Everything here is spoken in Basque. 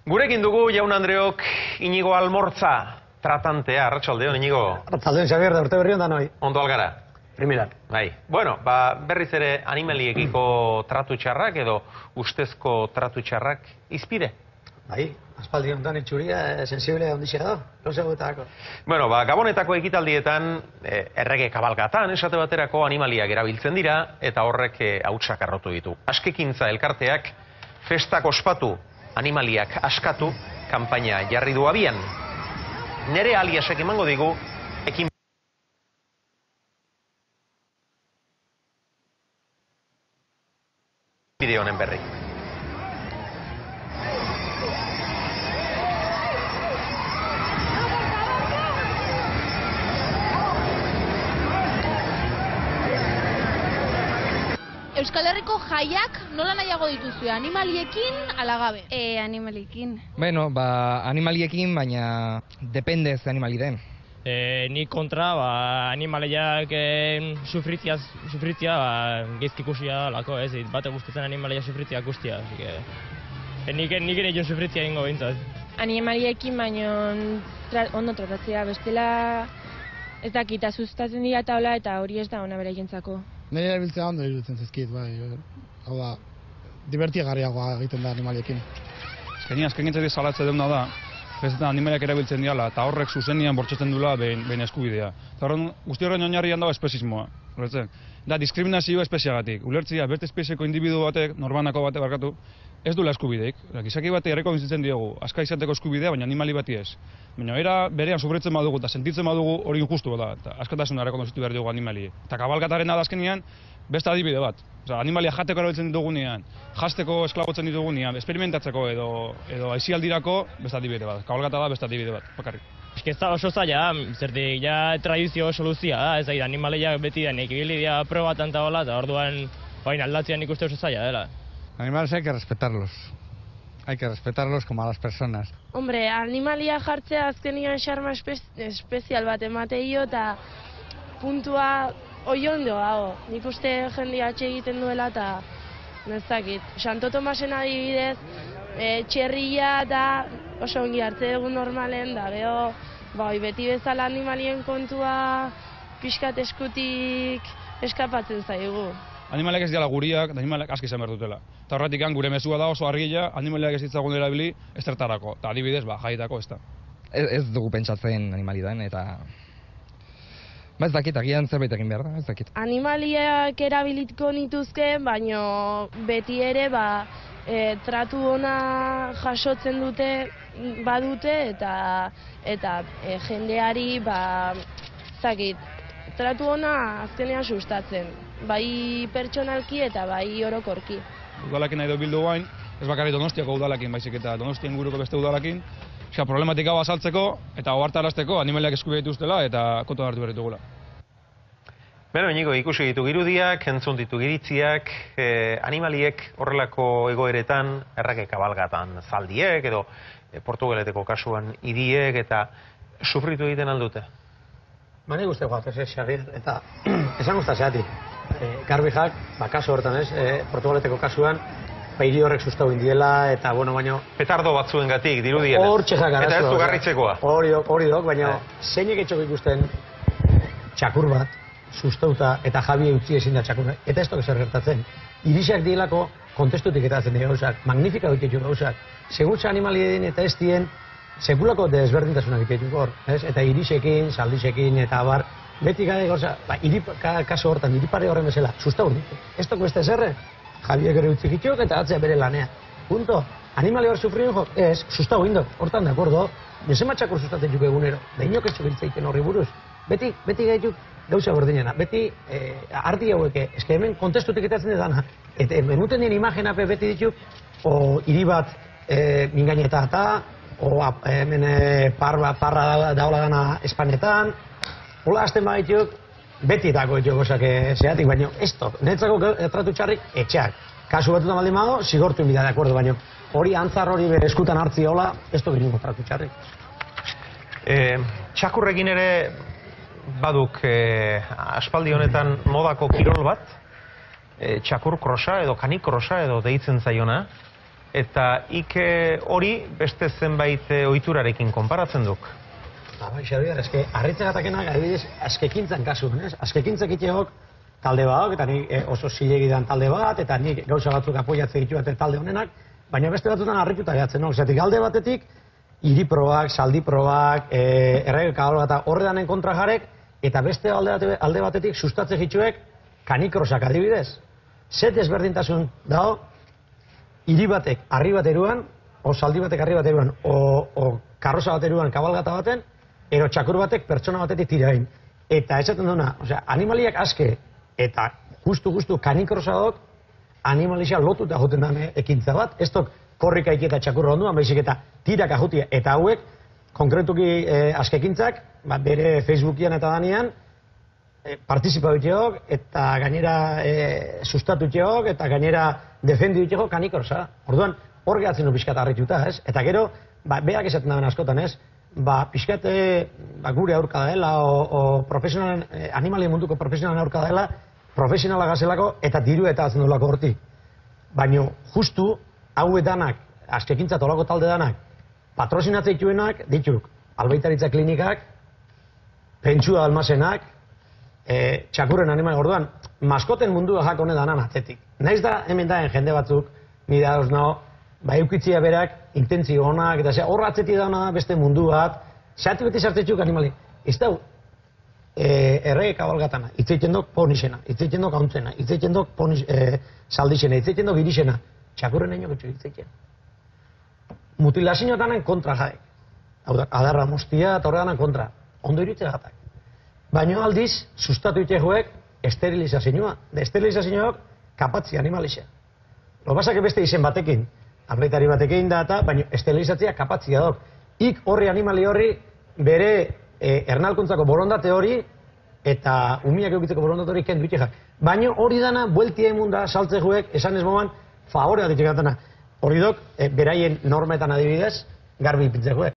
Gurekin dugu jaun Andreok Inigo Almortza, tratantea, arratsaldeon Inigo. Arratsaldeon Xabier, da urte berri on da noi. Ondo algara. Primilan. Bai. Bueno, berriz ere animaliekiko tratu txarrak edo ustezko tratu txarrak izpide. Bai, aspaldi honetan itxuria sensible ondixea da, lozegoetako. Bueno, Gabonetako ekitaldietan, errege kabalgatan esate baterako animaliak erabiltzen dira eta horrek hautsak arrotu ditu. Askekintza elkarteak festak ospatu, animaliak askatu, kanpaina jarri du abian. Nere aliasek emango digu, ekin bideo honen berri. Euskal Herriko jaiak nola nahiago dituzue, animaliekin ala gabe? Animaliekin. Bueno, animaliekin, baina depende ze animali den. Ni kontra, animaliak sufritzia geizki ikusia lako, ez, bate gustatzen animaliak sufritzia ikustia, nik ere joan sufritzia ingo bintzat. Animaliekin, baina ondo tratatzea, bestela ez dakita sustatzen dira taula eta hori ez da ona bere jentzako. Nire erabiltzea ondo iruditzen zizkit, bai. Hau da, divertiagarriagoa egiten da animaliekin. Azken gintzatik salatze deuna da, festetan animaliak erabiltzen diala, eta horrek zuzenian bortxatzen dula behin eskubidea. Eta horren, guzti horren oinarrian dago espezismoa. Da, diskriminazioa espeziagatik. Ulertzia, beste espezieko individu batek, norbanako batek barkatu, ez dula eskubideik. Gizaki bate erreko bizitzen diogu, aska izateko eskubidea, baina animali bati ez. Baina era berean sufritzen badugu eta sentitzen badugu hori injustu da, eta askatasuna errekonozitu behar diogu animali. Eta kabalgataren da azkenean, beste adibide bat. Animalia jateko erabiltzen ditugunean, jasteko esklabotzen ditugunean, experimentatzeko edo aizialdirako, beste adibide bat. Kabalgata da beste adibide bat, bakarrik. Ez da oso zaila, zertik ja tradizio soluzia da, ez da, animaliak beti denik ibilidia probatan eta hola, eta orduan aldatzean ikuste oso zaila dela. Animales hay que respetarlos. Hay que respetarlos como a las personas. Hombre, animalia jartzea azkenian xarma espezial bat emateio eta puntua oiondo dago. Nik uste jendia atxe egiten duela eta nezakit. Santo Tomasen adibidez, txerria eta oso ongi hartze dugu normalen da, beho, beti bezala animalien kontua pixkat eskutik eskapatzen zaigu. Animaliak ez dira guriak, animaliak aski izan behar dutela. Eta horretik gure mezua da oso argila, animaliak ez ditzagun erabili ezertarako. Eta adibidez, jaietako ez da. Ez dugu pentsatzen animalidan, eta ez dakit, agian zerbait egin behar da, ez dakit. Animaliak erabilitko nituzke, baino beti ere tratu ona jasotzen badute eta jendeari zakit, tratu ona azkenean sustatzen, bai pertsonalki eta bai orokorki. Udalakin nahi bildu guain, ez bakarri Donostiako udalakin baizik eta Donostien inguruko beste udalakin, problematika hau azaltzeko eta ohartarazteko animaliak eskubide dituztela eta kontuan hartu behar ditugula. Beno, Inigo, ikusi ditu irudiak, entzun ditu iritziak, animaliek horrelako egoeretan, errake kabalgatan zaldiek edo Portugaleteko kasuan idiek eta sufritu egiten aldute. Mani guzti guat, ez Xabier, eta esan guzta zeatik. Garbijak, kasu horretan ez, Portugaleteko kasuan, hiri horrek sustau indiela, eta baino... Petardo batzuen gatik, dirudienez. Hortxezak arazo. Eta ez du garritzekoa. Hori dok, baina zeinek etxok ikusten txakur bat, sustauta eta jabi utzi ezin da txakurra. Eta ez toke zer gertatzen. Irisak dielako kontestutik etatzen dira gauzak, magnifika dut gauzak. Segurtza animalien eta ez dien, sekulako desberdintasunak egitetu hor, eta irisekin, saldisekin eta abar, beti gade gauza, kaso hortan, iripare horren bezala, sustau ditu. Ez toko beste zerre, jabiek ere utzik itxok eta atzea bere lanea. Punto. Animali hor sufrien jo, ez, sustau indok, hortan de akordo, nezema txakur sustatzen juk egunero, da inok ez txubiltzaiten horri buruz. Beti gaituk gauza berdinena, beti ardi haueke, eske hemen kontestutik etatzen dena, eta benuten dien imagenape beti dituk, o hiri bat mingaineta eta, o hemen parra daula dana Espanetan, hola azten badituk, beti dako dituk gozak zeatik, baina ez tok, netzako tratu txarrik etxeak. Kasu batutan baldin bado, zigortu inbida, de acuerdo, baina hori antzar hori bere eskutan hartzi hola, ez tok inungo tratu txarrik. Txakurrekin ere baduk aspaldi honetan modako kirol bat, txakur krosa edo kanik krosa edo deitzen zaiona, eta hori beste zenbait ohiturarekin konparatzen duk. Bai, Xabier, eske harritzegatakenak adibidez askekintzan kasuan, ez? Askekintzak itxeok talde bat, eta ni oso zilegi dan talde bat, eta nik gauza batzuk apoiatzen ditu talde honenak, baina beste batzutan harrituta gehatzen, no? Zatik alde batetik, hiriprobak, saldiprobak, errege kabalgata horre danen kontra jarek, eta beste alde batetik sustatze jitzuek kanikrosak adibidez. Zet ezberdintasun dago, hiri batek harri bat eruan, o saldi batek harri bat eruan, o karroza bat eruan kabalgata baten, ero txakur batek pertsona batetik tirain. Eta esaten duna, animaliak aske, eta justu kanikrosa dok, animalizia lotuta joten den ekintza bat, ez dok korrika iki eta txakurra onduan, baizik eta tirak ajutia, eta hauek, konkretuki askekintzak, bere Facebookian eta danean, partizipabiteok, eta gainera sustatutxeok, eta gainera defenditxeok kanikrosa. Orduan, hor gehatzen du pixkat harrituta, ez? Eta gero, beak esaten daben askotan, ez? Pixkat gure aurka dela, o animalien munduko profesionalen aurka dela, profesionala gazelako eta diru eta atzen dolako horti. Baina, justu, hau danak, askekintza tolako talde danak, patrozinatzea dituenak, dituk, albaitaritza klinikak, pentsua almazenak, txakurren animali, orduan, maskoten mundua jak hone danan atzetik. Naiz da, hemen daen jende batzuk, nire dauz naho, eukitzia berak, intentzio honak, eta horra atzetik dauna beste mundu bat, zehati beti sartzetxuk animali. Ez da, errege kabalgatana, itzeiten dok ponixena, itzeiten dok hauntzena, itzeiten dok saldixena, itzeiten dok irixena, txakurren egin gotxo itzeiten. Mutilazioetanen kontra jaek. Hau da, adarra mostia eta horreganen kontra. Ondo iritze gatak. Baina aldiz, sustatu itxegoek esterilizazioa. De esterilizazioak kapatzi animalizia. Lo basak beste izen batekin, arleitari batekin da eta, baina esterilizatzea kapatzia dok. Ik horri animali horri bere ernalkuntzako borondate hori eta umiak eukitzeko borondate hori kendu itxegak. Baina hori dana, bueltia emunda saltzegoek, esan ez moman, favorea ditxegatana. Hori dok, beraien normetan adibidez, garbi ipitzegoek.